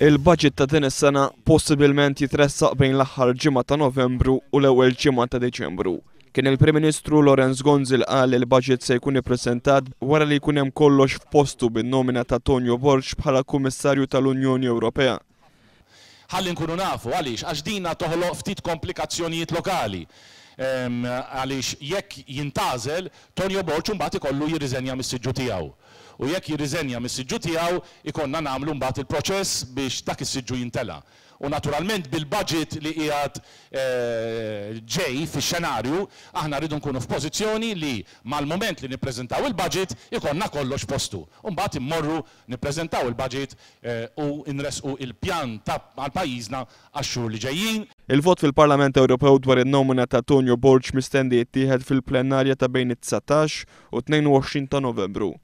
Il-budget ta' din is-sena possibilment jitressaq bejn l-aħħar ġimgħa ta' Novembru u l-ewwel ġimgħa ta' Diċembru. Kien il-Prim Ministru Lawrence Gonzi li qal li l-budget se jkun ippreżentat wara li jkun hemm kollox f'postu bin-nomina ta' Tonio Borg bħala Kummissarju tal-Unjoni Ewropea. Ħalli nkunu nafu għaliex, għax dina toħloq ftit komplikazzjonijiet lokali. Għaliex jekk jintgħażel, Tonio Borg imbagħad ikollu jirriżenja mis-siġġu tiegħu. U jekk jirriżenja mis-siġġu tiegħu, ikollna nagħmlu mbagħad il-proċess biex dak is-siġġu jimtela. U naturalment bil-budget li qiegħed ġej fix-xenarju, aħna rridu nkunu f'pożizzjoni li mal-mument li nippreżentaw il-budget ikollna kollox f'postu. U mbagħad immorru nippreżentaw il-budget u nressqu il-pjan ta' għal pajjiżna għax-xhur li ġejjin. Il-vot fil-Parlament Ewropew dwar in-nomina ta' Tonio Borg mistenni jittieħed fil-plenarja ta' bejn it-19 u 22 ta' Novembru.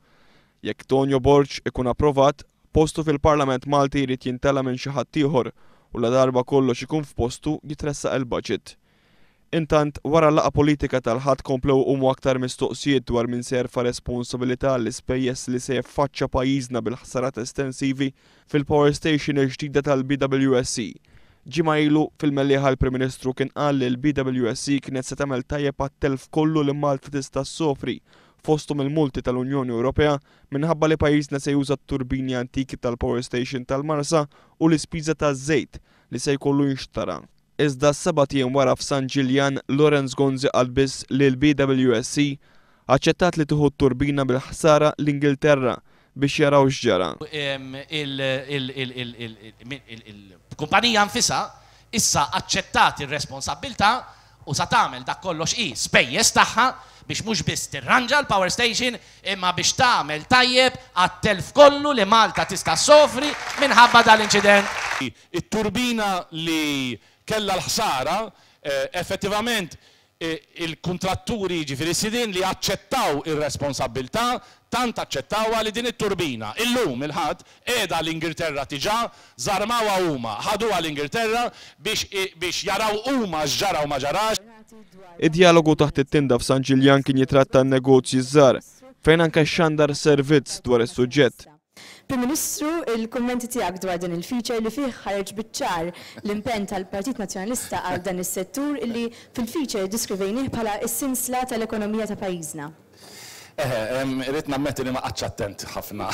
Jekk Tonio Borg ikun approvat, postu fil-Parlament Malti jrid jimtela minn xi ħadd ieħor u ladarba kollox ikun f'postu jitressaq il-budget. Intant, wara l-laqgħa politika tal-Ħadd komplew iqumu aktar mistoqsijiet dwar min se jerfa' responsabilità għall-ispejjeż li se jiffaċċja pajjiżna bil-ħsarat estensivi fil-power station il-ġdida tal-BWSC. Ġimgħa ilu, fil-Mellieħa l-Prim Ministru kien qal li l-BWSC kienet se tagħmel tajjeb għat-telf kollu li Malta tista' ssofri fosthom il-multi tal-Unjoni Ewropea minħabba li pajjiżna se juża t-turbini antiki tal-power station tal-Marsa u l-ispiża taż-żejt li se jkollu jinxtara. Iżda sebat ijiem wara f'San Ġiljan, Lawrence Gonzi qal biss li l-BWSC aċċettat li tieħu t-turbina bil-ħsara l-Ingilterra biex jaraw x'ġara. Il-kumpanija nfisha issa aċċettat ir-responsabbiltà u sa tagħmel dak kollox hi spejjeż tagħha biex mhux biss tirranġa l-power station imma biex tagħmel tajjeb għat-telf kollu li Malta tista' ssofri minħabba dal-inċident. It-turbina li kellha l-ħsara, effettivament il-kuntratturi, jiġifieri s-sidien li aċċettaw ir-responsabbiltà, tant aċċettawha li din it-turbina, illum, il-Ħadd, qiegħda l-Ingilterra diġà, żarmawha huma, ħaduha l-Ingilterra biex biex jaraw huma x'ġara u ma ġarax. Id-djalogu taħt it-tinda f'San Ġiljan kien jitratta n-negozji ż-żgħar, fejn anke xxandar servizz dwar is-suġġett. Prim Ministru, il-kummenti tiegħek dwar dan il-feature li fih ħareġ biċ-ċar l-impenn tal-Partit Nazzjonalista għal dan is-settur illi fil-feature iddiskrivejnih bħala s-sinsla tal-ekonomija ta' pajjiżna. Eħe, irrid nammetti li ma qgħadtx attent ħafna.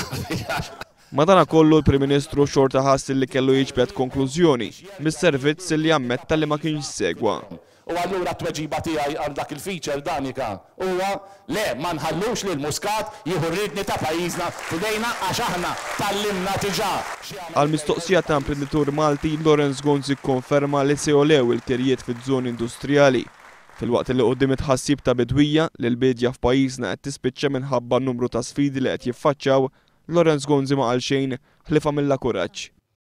Madanakollu l-Prim Ministru xorta ħass li kellu jiġbed konklużjoni mis-servizz li ammetta li ma kienx segwa. U allura t-tweġiba tiegħi għal dak il-feature, Danica, huwa, le, ma nħallux lil Muscat jieħu r-riedni ta' pajjiżna f'idejna għax aħna tgħallimna diġà x'jagħmel Għal mistoqsija ta' imprenditur Malti, Lawrence Gonzi kkonferma li se jogħlew il-kirjiet fiż-żoni industrijali, filwaqt li quddiem it-tħassib ta' bidwija li l-biedja f'pajjiżna qed tispiċċa minħabba n-numru ta' sfidi li qed jiffaċċaw, Lawrence Gonzi ma qal xejn ħlief għamilha kuraġġ.